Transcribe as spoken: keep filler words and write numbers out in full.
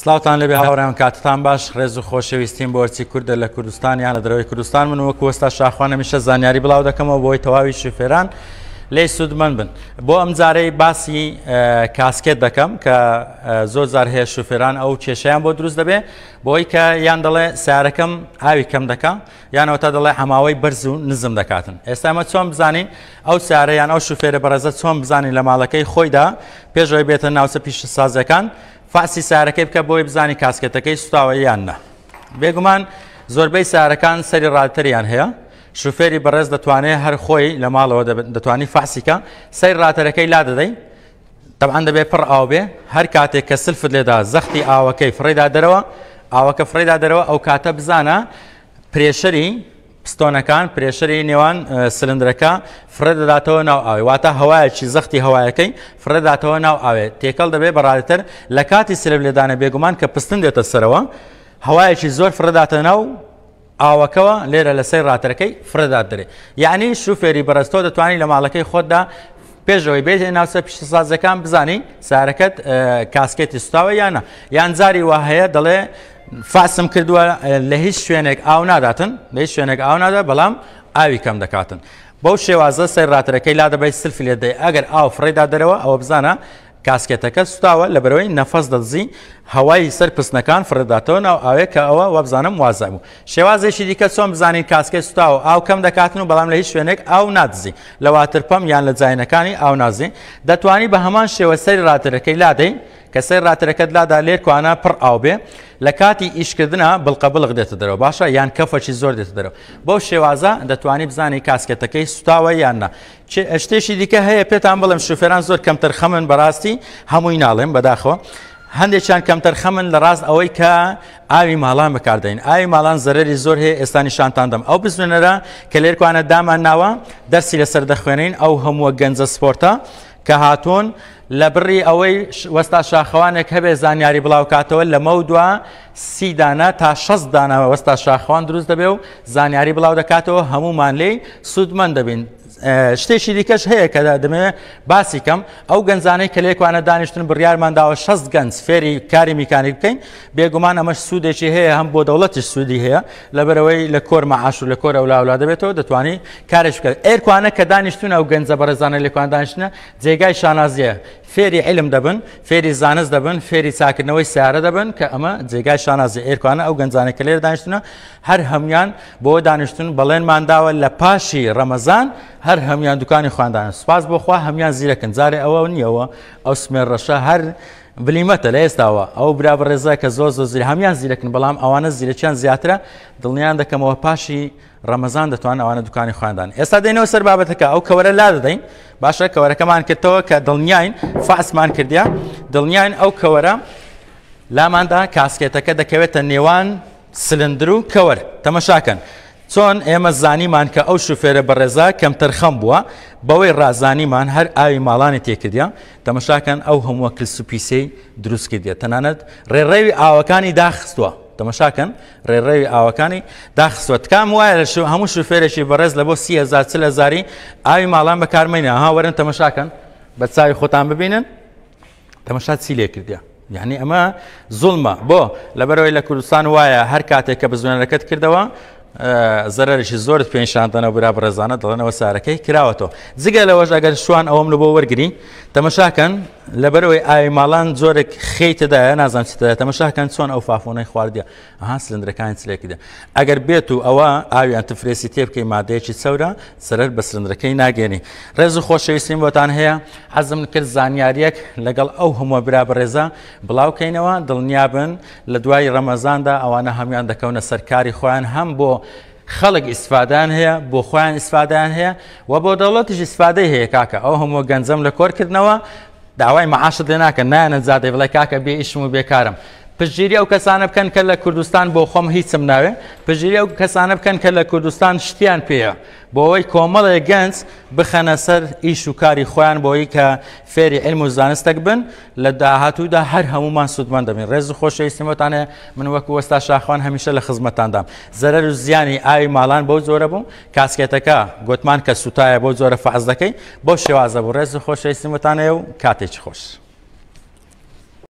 سڵاوتان لەبێ هاوڕێیان، کاتتان باش. ڕێز و خۆشەویستیم بۆ هەرچی کوردە لە کوردستان یان لە دەرەوەی کوردستان. من وەکو وەستا شاخوان هەمیشە زانیاری بڵاو دەکەمەوە بۆی تەواوی شوفێران لێی سوودمەند بن. بۆ ئەم جارەی باسی کاسکێت دەکەم کە زۆر جار هەیە شوفێران ئەو کێشەیان بۆ دروست دەبێ، بۆی کە یان دەڵێ سیارەکەم ئاوی کەم دەکا، یانەوە تا دەڵێ هەماوەی بەرز و نزم دەکاتن. ئێستا ئەمە چۆن بزانین ئەو سیارە یان ئەو شوفێرە بەڕێزە چۆن بزانین لە ماڵەکەی خۆیدا پێشەوەی بێتە ناوچە پیشەسازیەکان فاسی سیارەکەی بکە بۆی بزانی کاسکێتەکەی سوتاوە یان نا. بێگومان زۆربەی سیارەکان سەری ڕاتەریان هەیە، شوفێری بەڕێز دەتوانێت هەر خۆی لە ماڵەوە دەتوانی فاسیکە سەیر ڕاتەرەکەی لا دەدەی، طبعا دەبێت پڕ ئاو بێ. هەر کاتێک کە سلفت لێدا زەختی ئاوەکەی فڕێدا دەرەوە، ئاوەکە فڕێدا دەرەوە، ئەو کاتە بزانە pressure ی پستۆنەکان، pressure ی نێوان سلندرەکە فڕێ دەداتەوە ناو ئاوێ، واتە هەوایەکی زەختی هەوایەکەی فڕێ دەداتەوە ناو ئاوێ، تێکەڵ دەبێت بە ڕادێتەر. لە کاتی سلف لێدانە بێگومان کە پستن دێتە سەرەوە، هەوایەکی زۆر فڕێداتە ناو ئاوەکەوە، لێرە لەسەر ڕاتەرەکەی فڕێدات دەرێ. یعنی شوفێری بەڕێزتۆ دەتوانانی لە ماڵەکەی خۆتدا پێشەوەی بێت ناوچە پیشەسازەکان بزانی سارەکەت کاسکێتی سوتاوە یانە. یان جاری وا هەیە دەڵێ فاسم کردووە لە هیچ شوێنێک ئاو ناداتن، لە هیچ شوێنێک ئاو نادا، بەڵام ئاوی کەم دەکاتن. بەو شێوازە سەر ڕاتەرەکەی لا دەبەی سلفی لێ دەی، ئەگەر ئاو فڕێدا دەرەوە ئەوە بزانە کاسکێتەکە سوتاوە، لەبەرەوەی نەفەس دەدزی هەوای سەر پستنەکان فڕێداتەوە ناو ئاوێ کە ئەوە وابزانم وازە بوو. شێوازێکی دیکە چۆن بزانین کاسکێت سوتاوە ئاو کەم دەکاتن و بەڵام لە هیچ شوێنێک ئاو نادزی، لە water pump یان لە جاینەکانی ئاو نازی، دەتوانی بە هەمان شێوە سەری ڕاتەرەکەی لادەی کە سەر ڕاتەرەکەت لادا لێرکوانە پڕ ئاو بێ، لە کاتی ئیشکردنە بڵقە بڵق دێتە دەرەوە، باشە یان کەفەکی زۆر دێتە دەرەوە. بەو شێوازە دەتوانی بزانی کاسکێتەکەی سوتاوە یان نا. شتێکی دیکە هەیە پێتان بڵێم شوفێران زۆر کەمتەرخەمن، بەڕاستی هەمووی ناڵێم بەداخەوە، هەندێکیان کەمتەرخەمن لە ڕاست ئەوەی کە ئاوی ماڵان بەکاردەین. ئاوی ماڵان زەرەری زۆر هەیە، ئێستا نیشانتان دەم. ئەو بزوێنەرە کە لێرکوانە دامان ناوە دەرسی لەسەر دەخوێنین، ئەو هەمووە گەنجە سپۆرتە کە هاتوون لە بڕی ئەوەی وەستا شاخەوانێک هەبێ زانیاری بڵاوکاتەوە لە مەودوا سی دانە تا شەست دانە وەستا شاخەوان دروست دەبێ و زانیاری بڵاو دەکاتەوە، هەمومان لێی سوودمەند دەبین. شتێکی دیکەش هەیە کە دەمەوێت باسی کەم، ئەو گەنجانەی کە لێکوانە دانیشتن بڕیارمان داوە شەست گەنج فێری کاری میکانیک بکەین. بێگومان ئەمەش سوودێکی هەیە، هەم بۆ دەوڵەتیش سوودی هەیە، لەبەرەوەی لە کۆر مەعاش و لە کۆر ئەولاولا دەبێتەوە دەتوانی کارێک بکەیت. ئێرکوانە کە دانیشتون ئەو گەنجە بەڕێزانە لێکوان دانیشتنە جێگای شانازیە، فێری علم دەبن، فێری زانست دەبن، فێری چاکردنەوەی سیارە دەبن کە ئەمە جێگای شانازی. ئێرکوانە ئەو گەنجانە کە لێرە دانیشتونە هەر هەمویان بۆ دانیشتون بەڵێنمان داوە لە پاشی ڕەمەزان هەر هەمویان دوکانی خواندانە. سوپاس بۆ خوا هەمویان زیرەکن، جارێ ئەوە نییەوە ئەو سمێر ڕەشە هەر بلیمەتە لە ئێستاوە ئەو برا بەڕێزە کە زۆر زۆر زیر هەمویان زیرەکن، بەڵام ئەوانە زیرەکیان زیاترە. دڵنیان دەکەمەوە پاشی ڕەمەزان دەتوانن ئەوانە دوکانی خواندان. ئێستا دێنەوە سەر بابەتەکە، ئەو کەوەرە لا دەدەین. باشە کەوەرەکەمان کردەوە کە دڵنیاین فاسمان کردیا، دڵنیاین ئەو کەوەرە لاماندا کاسکێتەکە دەکەوێتە نێوان سلندر و کەوەر. تەمەشاکەن چۆن ئێمە زانیمان کە ئەو شوفێرە بەڕێزا کەمتەرخەم بووە، بەوەی ڕازانیمان هەر ئاوی ماڵانی تێکردیا. تەمەشاکەن ئەو هەمووە کلس و پیسەی دروست کردیە، تەنانەت ڕێڕەوی ئاوەکانی داخستووە. تەمەشاکەن ڕێڕەوی ئاوەکانی داخستووە. تکام وایە لە هەموو شوفێرێکی بەڕێز لە بۆ سی هەزار چل هەزاری ئاوی ماڵان بەکارمەینە. ها وەرن تەمەشاکەن بە چاوی خۆتان ببینن تەمەشا چی لێ کردیە. یعنی ئەمە زوڵمە بۆ لەبەرەوەی لە کوردستان وایە هەر کاتێک کە بزوێنەرەکەت کردەوە زەرەرێکی زۆرت پێنیشاندەنەوە برا بەڕێزانە دەڵێنەوە سارەکەی کراوەتەوە. جگە لەوەش ئەگەر شوان ئەوەم لە بۆ وەرگری تەمەشاکەن لەبەرەوەی ئاوی ماڵان جۆرێک خێی تێدایە نازانم چی تێدایە، تەمەشاکەن چۆن ئەو فافۆنەی خواردیە، ئەها سلندرەکانی چلێکیدە. ئەگەر بێت و ئەوە ئاوی antifreeze ی تێ بکەی مادەیەکی چەورە زەرەر بە سلندرەکەی ناگەێنی. ڕێز و خۆشەویستیم بۆتان هەیە، حەزم کرد زانیاریەک لەگەڵ ئەو هەموو برا بەڕێزە بڵاوکەینەوە. دڵنیابن لە دوای ڕەمەزاندا ئەوانە هەمویان دەکەونە سەرکاری خۆیان، هەم بۆ خەڵک ئیسفادەیان هەیە، بۆ خۆیان ئیسفادەیان هەیە و بۆ دەوڵەتیش ئیسفادەی هەیە. کاکە ئەو هەموو گەنجەم لە کۆرکردنەوە داوای مەعاشت لێ ناکەن، نایەنە جادەی بڵێ کاکە بێ ئیشم و بێکارم. پشتگیری ئەو کەسانە بکەن کە لە کوردستان بۆ خۆم هیچم ناوێ، پشتگیری ئەو کەسانە بکەن کە لە کوردستان شتیان پێیە، بۆ ئەوەی کۆمەڵێک گەنج بخەنە سەر ئیش و کاری خۆیان، بۆ ئەوەی کە فێری علم و زانستێک بن لە داهاتوودا هەر هەمومان سوودمەند دەبین. ڕێز و خۆشەویستیم بۆتان هەیە، من وەکو وەستا شاخوان هەمیشە لە خزمەتاندام. زەرەر و زیانی ئاوی ماڵان بەو جۆرە بوو، کاسکێتەکە گوتمان کە سوتایە بەو جۆرە فەعز دەکەی، بەو شێوازە بوو. ڕێز و خۆشەویستیم بۆتان هەیە و کاتێکی خۆش.